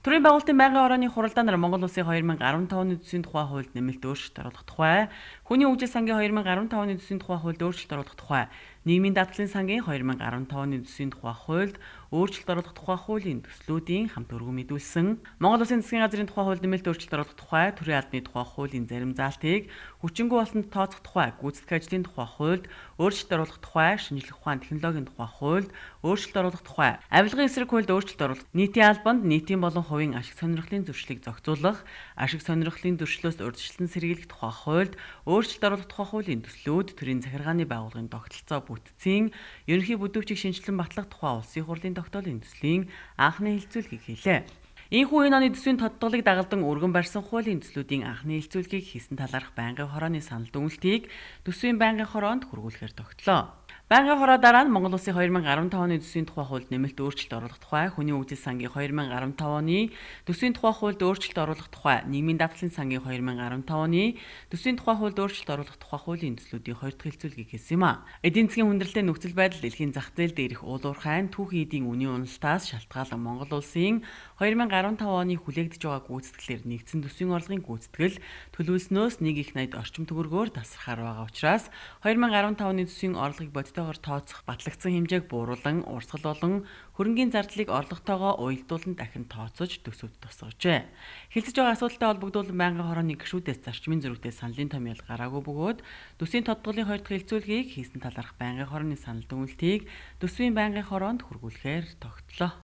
Төрийн байгуулалтын байнгын хорооны хуралдаанаар Монгол Улсын 2015 оны төсвийн тухай хуульд нэмэлт өөрчлөлт оруулах тухай, хүний хөгжил сангийн 2015 оны төсвийн тухай хуульд өөрчлөлт оруулах тухай, нийгмийн даатгалын сангийн 2015 оны төсвийн тухай хуульд өөрчлөлт оруулах тухай хуулийн төслүүдийн хамт өргөн мэдүүлсэн, Монгол Улсын засгийн газрын тухай хуульд нэмэлт өөрчлөлт оруулах тухай, төрийн албаны тухай хуулийн зарим заалтыг хүчингүй болсонд тооцох тухай, гүйцэтгэх ажлын тухай хуульд өөрчлөлт оруулах тухай, шинжлэх ухааны технологийн тухай хуульд өөрчлөлт оруулах тухай, авилгын эсрэг хуульд өөрчлөлт оруулах, нийтийн албанд нийтийн болон хувийн ашиг сонирхлын зөрчлийг зохицуулах, ашиг сонирхлын зөрчлөөс урьдчилан сэргийлэх тухай хуульд өөрчлөлт оруулах тухай хуулийн төслүүд төрийн захиргааны байгууллагын тогтолцоо бүтцийн ерөнхий бүдүүвчийг шинжилэн батлах тухай улсын хурлын тогтоолын төслийн анхны хэлэлцүүлгийг хийлээ. Ийхүү энэ оны төсвийн тодтголыг дагалдан өргөн барьсан хуулийн төслүүдийн анхны хэлэлцүүлгийг хийсэн талаарх байнгын хорооны санал дүгнэлтийг төсвийн байнгын хороонд хүргүүлэхээр тогтлоо. Байнгын хороо дараа нь Монгол Улсын 2015 оны төсвийн тухай хуульд нэмэлт өөрчлөлт оруулах тухай, хүний хөгжил сангийн 2015 оны төсвийн тухай хуульд өөрчлөлт оруулах тухай, нийгмийн даатгалын сангийн 2015 оны төсвийн тухай хуульд өөрчлөлт оруулах тухай хуулийн төслүүдийн хоёр дахь хэлэлцүүлгийг хийсэн юм а. Эдийн засгийн хүндрэлтэй нөхцөл байдал дэлхийн зах зээл дээрх уулуурхайн түүхэн эдийн үнийн уналтаас шалтгаалan Монгол Улсын 2015 оны хүлээгдэж байгаа гүйцэтгэлээр нэгдсэн төсвийн орлогын гүйцэтгэл төлөвлөснөөс 1.80 орчим төгрөгөөр тасархаар байгаа учраас 2015 оны төсвийн орлогыг бодитоогоор тооцох батлагдсан хэмжээг бууруулан урсгал болон хөрөнгийн зардлыг орлоготойгоо уялдуулан дахин тооцож төсөвд тусгажээ. Хэлцэж байгаа асуудалтай холбогдуулан байнгын хорооны гишүүдээс зарчмын зөрүүтэй саналын томьёол гараагүй бөгөөд төсвийн тодтголын хоёр дахь хэлэлцүүлгийг хийсэн талаарх байнгын хорооны санал дүгнэлтийг төсвийн байнгын хороонд хүргүүлэхээр тогтлоо.